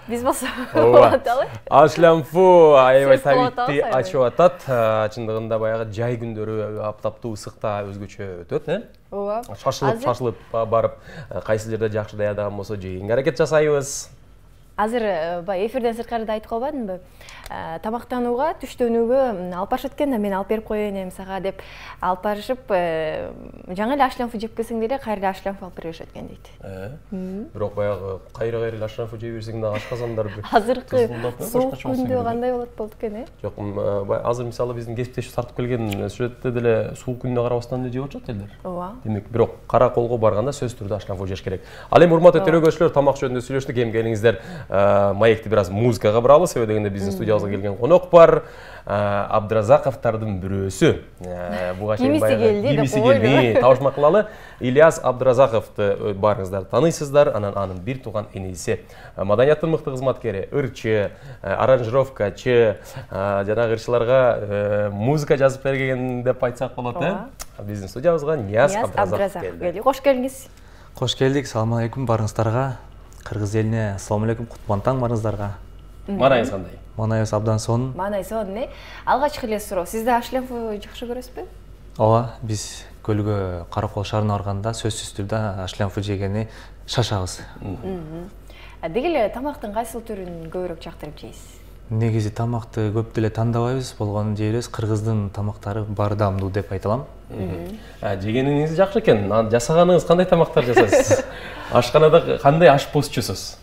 Биз болсо аталы. Ашлямфу аябай табитти ачып атат. Чындыгында баягы жай күндөрү аптаптуу ысыкта өзгөчө өтөт, Ооба. Шашылып барып, кайсы жерде жакшы даярдаган болсо жегенге аракет жасайбыз. Азыр баягы эфирден сырткарыда айтып калбадымбы? Тамактанууга, түштөнүүгө алып барышат экен да, мен алып берип коеюн эми сага деп алып барышып, жаңы эле ашлямфу жеп келсең деле кайра эле ашлямфу алып беришет экен дейт. Бирок баягы кайра эле ашлямфу жей берсең да ашказандар азыркы суук күндө кандай болот болду экен, Жок, азыр мисалы биздин кесиптеш тартып келген сюжетте деле суук күнүнө карабастан эле жеп атышат элдер. Ооба. Демек, бирок кара колго барганда сөзсүз түрдө ашлямфу жеш керек. Ал эми урматтуу төрөгөчүлөр, тамак жөнүндө сүйлөштүк, эми келиңиздер маекти бир аз музыкага буралы, себеби дегенде биздин студиябызга келген конок бар. Абдыразаковдардын бирөөсү. Буга чейин кимиси келди, табышмак кылалы. Ильяс Абдыразаковду баарыңыздар тааныйсыздар, анын бир тууган иниси. Маданияттын мыкты кызматкери, ырчы, аранжировкачы, жанагы ырчыларга музыка жазып берген деп айтсак болот, Биздин студиябызга Нияз Абдыразаков келди. Кош келиңиз. Кош келдик. Салам алейкум барыңыздарга. Кыргыз элине салам алейкум, кутлук таң барыңыздарга. Манайыңыз кандай? Манайыбыз абдан сонун. Манай сонун, Алгачкы эле суроо. Сиз да ашлямфу жакшы көрөсүзбү? Ооба, биз көлгө Каракол шаарына барганда сөзсүз түрдө ашлямфу жегени шашабыз. Деги эле тамактын кайсыл түрүн көбүрөөк жактырып жейсиз? Негизи тамакты көп деле тандабайбыз, болгонун жейбиз. Кыргыздын тамактары баары даамдуу деп айта алам. Жегениңиз жакшы экен. Жасаганыңыз кандай тамактар жасайсыз? Ашканада кандай ашпозчусуз?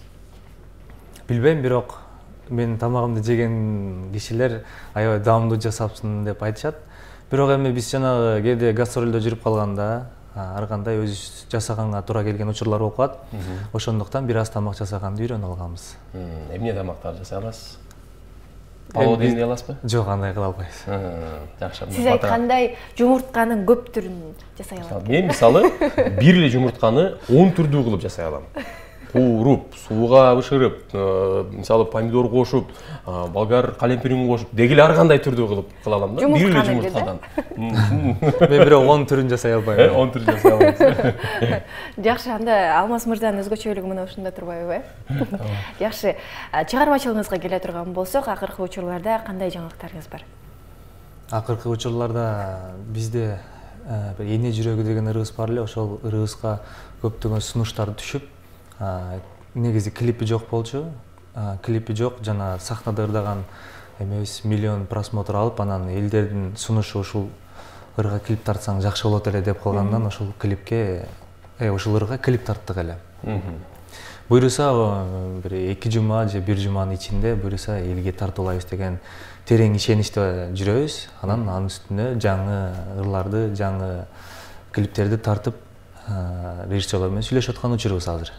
Билбейм, бирок мен тамагымды жеген кишилер аябай даамдуу жасапсың деп айтышат. Бирок эми биз жанагы кээде гастролдо жүрүп калганда, ар кандай өзүбүз жасаганга туура келген учурлар болуп калат. Ошондуктан бир аз тамак жасаганды үйрөнүп алганбыз. Эмне тамактар жасай аласыз? Палоо демдей аласызбы? Жок, андай кыла албайбыз. Жакшы. Сиз айткандай жумуртканын көп түрүн жасай алат. Мен мисалы бир эле жумуртканы 10 түрдүү кылып жасай алам. Кууруп, сууга бышырып, мисалы помидор кошуп, болгар калемпирин кошуп, дегиле ар кандай түрдүү кылып кыла алам да. Бир эле жумурткадан. Мен бирок 10 түрүн жасай албайм. 10 түрүн жасай алам. Жакшы, анда Алмаз мырзанын өзгөчөлүгү мына ушунда турбайбы, Жакшы, чыгармачылыгыңызга келе турган болсок, акыркы учурларда кандай жаңылыктарыңыз бар? Акыркы учурларда бизде бир эне жүрөгү деген ырыбыз бар эле, ошол ырыбызга көптөгөн сунуштар түшүп, негизи клипи жок болчу. Клипи жок, жана сахнада ырдаган эмебиз миллион просмотр алып, анан элдердин сунушу ушул ырга клип тартсаң жакшы болот эле деп калгандан ошол клипке, ушул ырга клип тарттык эле. Буюрса бир 2 жума же 1 жуманын ичинде буюрса элге тартуулайбыз деген терең ишеничте жүрөбүз. Анын үстүнө жаңы ырларды, жаңы клиптерди тартып режиссерлор менен сүйлөшүп аткан учурубуз азыр.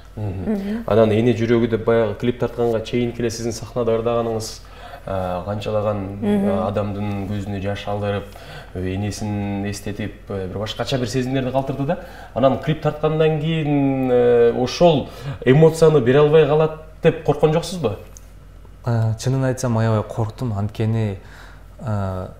Анан эне жүрөгү деп баягы клип тартканга чейин эле сиздин сахнада ырдаганыңыз канчалаган адамдын көзүнө жаш алдырып, энесин эстетип, бир башкача бир сезимдерди калтырды да. Анан клип тарткандан кийин ошол эмоцияны бере албай калат деп корккон жоксузбу? Чынын айтсам аябай корктум, анткени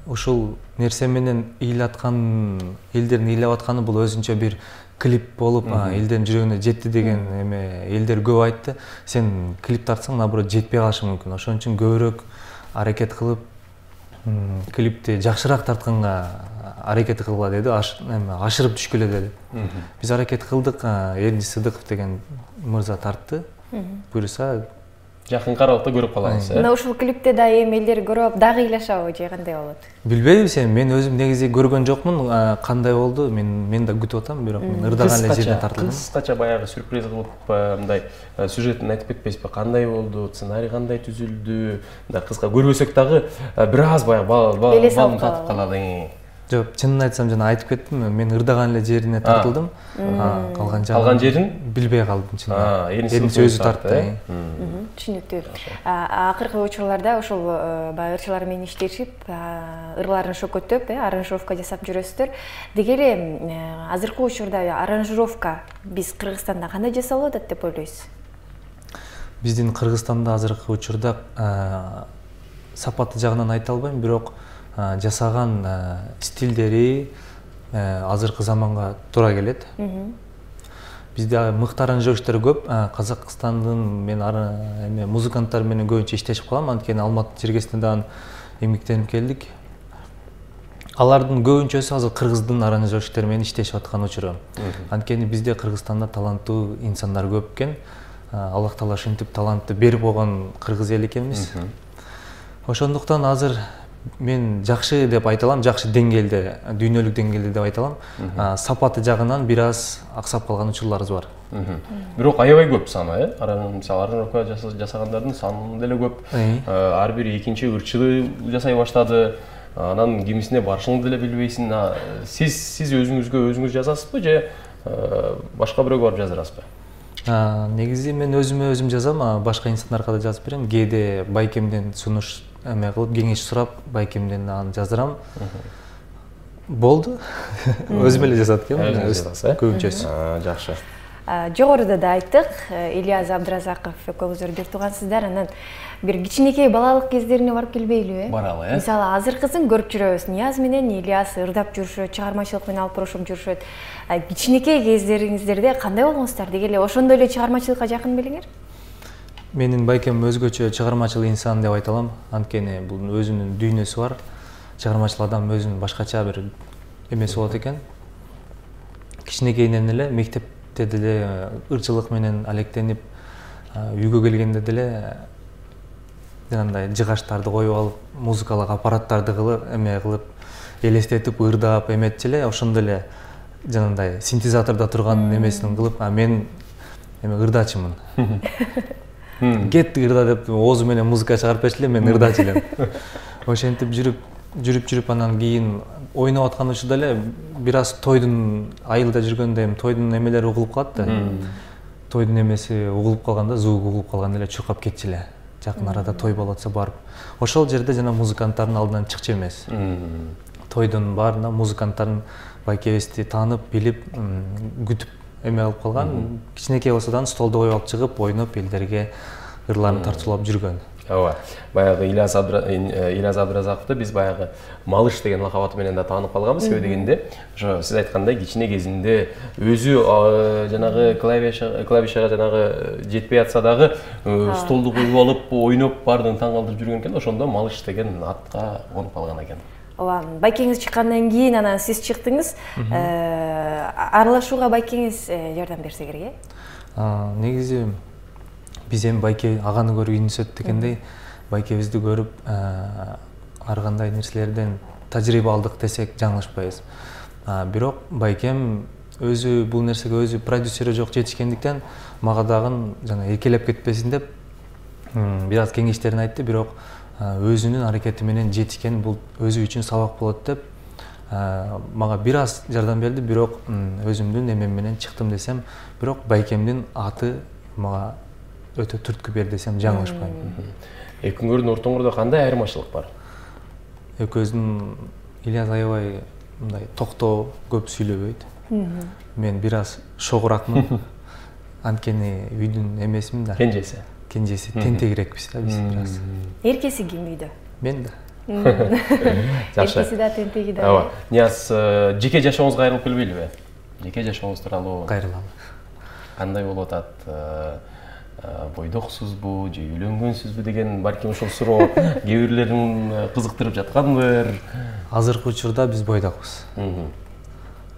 ушул нерсе менен элдердин ыйлап атканы бул өзүнчө бир клип болуп, элдердин жүрөгүнө жетти деген эме элдер көп айтты. Сен клип тартсаң, наоборот, жетпей калышы мүмкүн. Ошон үчүн көбүрөөк аракет кылып, клипти жакшыраак тартканга аракет кылгыла деди, ашырып түшкүлө деди. Биз аракет кылдык, Эрдис Сыдыков деген мырза тартты. Буюрса жакын аралыкта көрүп калабыз. Мына ушул клипте да эми элдер көрүп дагы ыйлашабы же кандай болот? Билбейм, мен өзүм негизи көргөн жокмун, кандай болду, мен да күтүп атам, бирок мен ырдаган эле жерден тартылдым. Кыскача баягы сюрприз кылып, мындай сюжетин айтып кетпейсизби? Кандай болду, сценарий кандай түзүлдү? Мындай кыска көрбөсөк дагы бир аз баягы балын татып калалы. Жок, чынын айтсам жана айтып кеттим, мен ырдаган эле жерине тартылдым. Калган жерин билбей калдым чынында. Эрдис өзү тартты. Түшүнүктүү. Акыркы учурларда ошол баягы ырчылар менен иштешип, ырларын шөкөтөп, аранжировка жасап жүрөсүздөр. Деги эле азыркы учурда аранжировка биз Кыргызстанда кандай жасалып атат деп ойлойсуз? Биздин Кыргызстанда азыркы учурда сапаты жагынан айта албайм, бирок жасаган стилдери азыркы заманга туура келет. бизде мыкты аранжировщиктер көп. Казакстандын мен эме музыканттар менен көбүнчө иштешип калам, анткени Алматы жергесинде дагы эмгектенип келдик. Алардын көбүнчөсү азыр кыргыздын аранжировщиктери менен иштешип аткан учуру. Анткени бизде Кыргызстанда таланттуу инсандар көп экен. Аллах Таала ушинтип талантты берип койгон кыргыз эл экенбиз. Ошондуктан азыр мен жакшы деп айта алам, жакшы деңгээлде, дүйнөлүк деңгээлде деп айта алам. Сапаты жагынан бир аз аксап калган учурларыбыз бар. Бирок аябай көп саны, мисалы аранжировка жасагандардын саны деле көп. Ар бир экинчи ырчылы жасай баштады. Анан кимисине барышыңды деле билбейсиң. Сиз өзүңүз жазасызбы же башка бирөөгө барып жаздырасызбы? Негизи мен өзүм жазам, башка инсандарга да жазып берем. Кээде байкемден сунуш эме кылып, кеңеш сурап, байкемден аны жаздырам. Болду. Өзүм эле жазат экенмин, көбүнчөсү. Жакшы. Жогоруда да айттык, Ильяс Абдразаков экөөңүздөр бир туугансыздар, анан бир кичинекей балалык кездерине барып келбейлиби? Баралы, Мисалы, азыркысын көрүп жүрөбүз. Нияз менен Ильяс ырдап жүрүшөт, чыгармачылык менен алып бурушуп жүрүшөт. Кичинекей кездериңиздерде кандай болгонсуздар? Деги эле ошондой эле чыгармачылыкка жакын белеңер? Менин байкем өзгөчө чыгармачыл инсан деп айта алам. Анткени бул өзүнүн дүйнөсү бар. Чыгармачыл адам өзүнүн башкача бир эмеси болот экен. Кичинекейинен эле мектепте деле ырчылык менен алектенип, үйгө келгенде деле жанагындай жыгаштарды коюп алып, музыкалык аппараттарды кылып, элестетип, ырдап эметчи эле, ошондой эле жанагындай синтезатордо турган эмесин кылып, мен ырдачымын. Кет ырда деп оозу менен музыка чыгарып берчи эле, мен ырдачу элем. Ошентип жүрүп анан кийин ойноп аткан учурда эле бир аз тойдун айылда жүргөндө тойдун эмелери угулуп калат да. Тойдун эмеси угулуп калганда, звугу угулуп калганда эле чуркап кетчи эле. Жакын арада той болуп атса барып. Ошол жерде жана музыканттардын алдынан чыкчу эмес. Тойдун баарында музыканттардын байкебизди таанып, билип, күтүп эме алып калган. Кичинекей болсо да столду коюп алып чыгып, ойноп, элдерге ырларын тартуулап жүргөн. Ооба. Баягы Ильяс Абдразаковду биз баягы Малыш деген лакабаты менен да таанып калганбыз. Себеби дегенде, ошо сиз айткандай кичине кезинде өзү жанагы клавишага жанагы жетпей атса дагы столду коюп алып, ойноп, баардыгын таң калтырып жүргөн экен. Ошондо Малыш деген атка конуп калган экен. Ооба, байкеңиз чыккандан кийин анан сиз чыктыңыз. Аралашууга байкеңиз жардам берсе керек, э? Негизи биз эми байке аганы көрүп үйүнүсөт дегендей, байкебизди көрүп ар кандай нерселерден тажрыйба алдык десек жаңылышпайбыз. Бирок байкем өзү бул нерсеге өзү продюсери жок жетишкендиктен мага дагы жана эркелеп кетпесин деп бир аз кеңештерин айтты, бирок өзүнүн аракети менен жетишкен бул өзү үчүн сабак болот деп мага бир аз жардам берди, бирок өзүмдүн эмем менен чыктым десем, бирок байкемдин аты мага өтө түрткү бер десем жаңылышпайм. Экөөңөрдүн ортоңордо кандай айырмачылык бар? Экөөбүздүн Ильяс аябай мындай токтоо, көп сүйлөбөйт. Мен бир аз шогуракмын. Анткени үйдүн эмесимин да. Кенжеси тентегирекпиз да биз бир аз. Эркеси ким үйдө? Мен да. Жакшы. Эркеси да, тентеги да. Ооба. Нияз, жеке жашооңузга кайрылып келбейлиби? Жеке жашооңуз тууралуу кайрылам. Кандай болуп атат? Бойдоксузбу же үйлөнгөнсүзбү деген балким ошол суроо кээ бирлерин кызыктырып жаткандыр. Азыркы учурда биз бойдокпуз.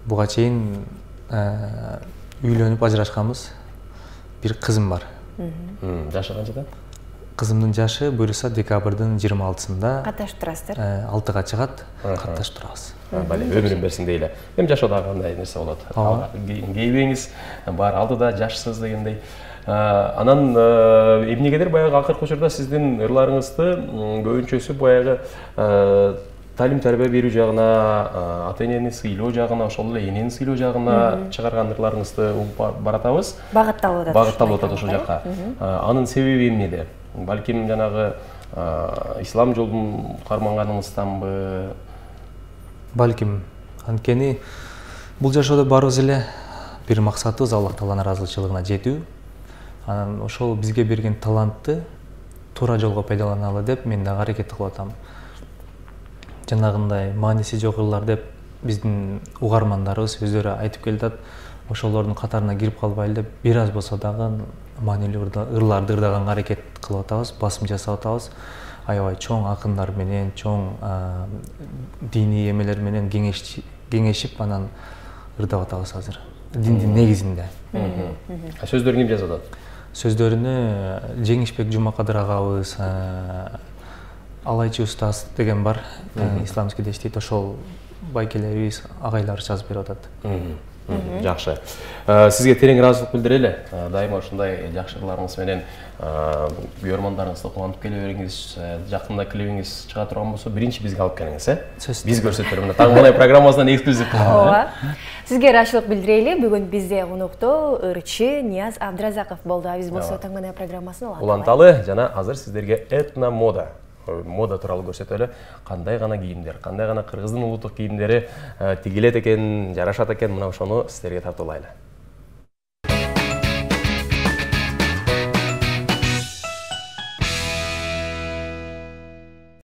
Буга чейин үйлөнүп ажырашканбыз. Бир кызым бар. Жашы канчада? Кызымдын жашы буюрса декабрдын 26-сында катташып турасыздар. 6-га чыгат, катташып турабыз. Өмүрүн берсин дейли. Эми жашоодо кандай нерсе болот? Кейбиңиз бар алдыда жашсыз дегендей. Анан эмнегедир баягы акыркы учурда сиздин ырларыңызды көбүнчөсү баягы талим тарбия берүү жагына, ата энени сыйлоо жагына, ошол эле энени сыйлоо жагына чыгарган ырларыңызды угуп баратабыз. Багытталып атат ошол жакка. Анын себеби эмнеде? Балким жанагы ислам жолун карманганыңызданбы? Балким, анткени бул жашоодо баарыбыз эле бир максатыбыз Аллах Тааланын ыраазычылыгына жетүү. Анан ошол бизге берген талантты туура жолго пайдаланалы деп мен дагы аракет кылып атам. Жанагындай мааниси жок ырлар деп биздин угармандарыбыз өздөрү айтып келатат. ошолордун катарына кирип калбайлы деп бир аз болсо дагы маанилүү ырларды ырдаганга аракет кылып атабыз, басым жасап атабыз. Аябай чоң акындар менен, чоң диний эмелер менен кеңешип анан ырдап атабыз азыр. Диндин негизинде. Сөздөрүн ким жазып атат? Сөздөрүнү Жеңишбек Жумакадыр агабыз, Алайчы устаз деген бар, исламский иштейт, ошол байкелерибиз, агайлар жазып берип атат. Жакшы. Сизге терең ыраазычылык билдирели. Дайыма ушундай жакшы ырларыңыз менен көрөрмандарыңызды кубантып келе бериңиз. Жакында клибиңиз чыга турган болсо, биринчи бизге алып келиңиз, Биз көрсөтөлү. Мына Таңбалай программасынан эксклюзив. Ооба. Сизге ыраазычылык билдирели. Бүгүн бизде конокто ырчы Нияз Абдыразаков болду. Биз болсо Таңбалай программасын уланталы жана азыр сиздерге этно мода тууралуу көрсөтөлү. Кандай гана кийимдер, кандай гана кыргыздын улуттук кийимдери тигилет экен, жарашат экен, мына ошону сиздерге тартуулайлы.